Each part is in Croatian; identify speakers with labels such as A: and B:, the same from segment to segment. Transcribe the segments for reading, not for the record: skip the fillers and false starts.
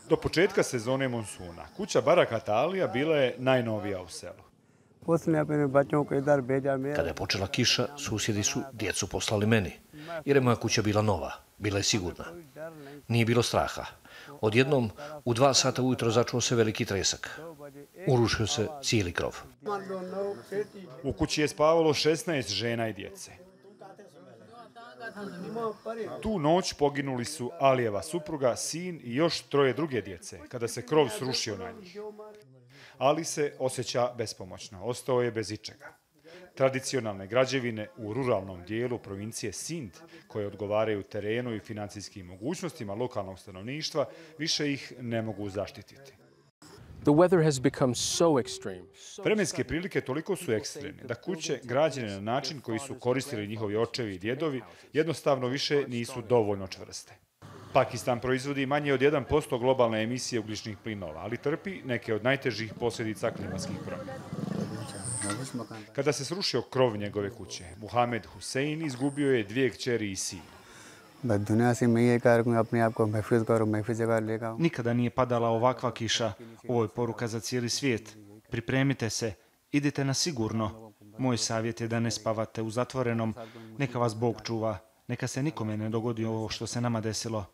A: Do početka sezone monsuna, kuća Barakat Alija bila je najnovija u selu.
B: Kada je počela kiša, susjedi su djecu poslali meni, jer je moja kuća bila nova, bila je sigurna. Nije bilo straha. Odjednom, u 2 sata ujutro začuo se veliki tresak. Urušio se cijeli krov.
A: U kući je spavalo 16 žena i djece. Tu noć poginuli su Alijeva supruga, sin i još 3 druge djece, kada se krov srušio na njih. Ali se osjeća bespomoćno, ostao je bez ičega. Tradicionalne građevine u ruralnom dijelu provincije Sind, koje odgovaraju terenu i financijskim mogućnostima lokalnog stanovništva, više ih ne mogu zaštititi. Vremenske prilike toliko su ekstremne da kuće građene na način koji su koristili njihovi očevi i djedovi jednostavno više nisu dovoljno čvrste. Pakistan proizvodi manje od 1% globalne emisije ugljičnih plinova, ali trpi neke od najtežih posljedica klimatskih promjena. Kada se srušio krov njegove kuće, Muhamed Hussein izgubio je 2 kćeri i sin.
C: Nikada nije padala ovakva kiša. Ovo je poruka za cijeli svijet. Pripremite se, idite na sigurno. Moj savjet je da ne spavate u zatvorenom. Neka vas Bog čuva. Neka se nikome ne dogodi ovo što se nama desilo.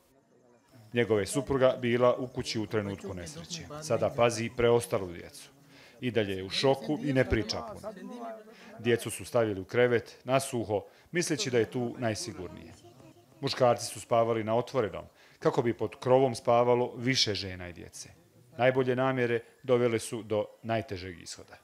A: Njegove supruga bila u kući u trenutku nesreće. Sada pazi preostalu djecu. I dalje je u šoku i ne priča puno. Djecu su stavili u krevet, na suho, misleći da je tu najsigurnije. Muškarci su spavali na otvorenom, kako bi pod krovom spavalo više žena i djece. Najbolje namjere dovele su do najtežeg ishoda.